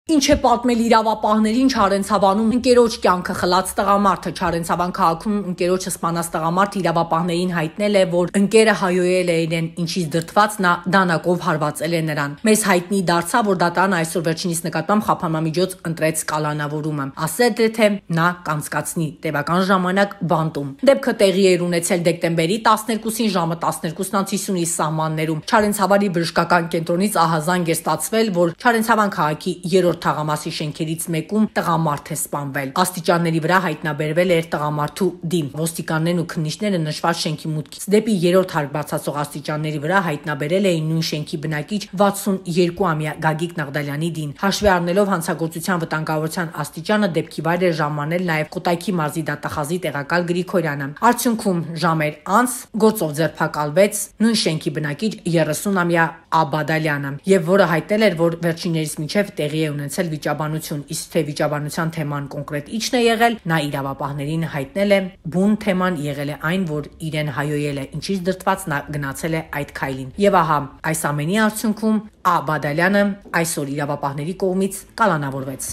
Ինչ է պատմել իրավապահներին Չարենցավանում ընկերոջ կյանքը խլած տղամարդը Չարենցավան քաղաքում ընկերոջը սպանած տղամարդը իրավապահներին հայտնել է, որ ընկերը հայոյել է իրեն, ինչից դրդված նա դանակով հարվածել է նրան։ Մեզ հայտնի դարձավ, որ դատարանը այսօր վերջինիս նկատմամբ խափանամիջոց ընտրեց կալանավորումը, ասել է, թե նա կանցկացնի տևական ժամանակ բանտում։ Դեպքը տեղի էր ունեցել դեկտեմբերի 12-ին ժամը 12:50-ի սահմաններում։ Չարենցավարի բժշկական կենտրոնից ահազանգ է ստացվել, որ Չարենցավան քաղաքի թաղամասի շենքերից մեկում տղամարդ է սպանվել։ Աստիճանների վրա հայտնաբերվել էր տղամարդու դին։ Ոստիկաններն ու քննիչները նշված շենքի մուտքից դեպի 3-րդ հարկ բարձրացող աստիճանների վրա հայտնաբերել էին նույն շենքի բնակիչ 62-ամյա Գագիկ Նաղդալյանի դին։ Հաշվի առնելով հանցագործության վտանգավորության աստիճանը, դեպքի վայր էր ժամանել նաև Կոտայքի մարզի դատախազի տեղակալ Գրիգորյանը։ Արդյունքում ժամեր անց գործով ձերբակալվեց նույն շենքի բնակիչ 30-ամյա Աբադալյանը, եւ որը հայտնել էր, որ վերջիններիս միջև տեղի է ունեցել վիճաբանություն, իսկ թե վիճաբանության թեման կոնկրետ ինչն է եղել, նա իրավապահներին հայտնել է, բուն թեման եղել է այն, որ իրեն հայոյել է, ինչից դրդված նա գնացել է այդ քայլին։ Եվ ահա, այս ամենի արդյունքում Աբադալյանը այսօր իրավապահների կողմից կալանավորվեց։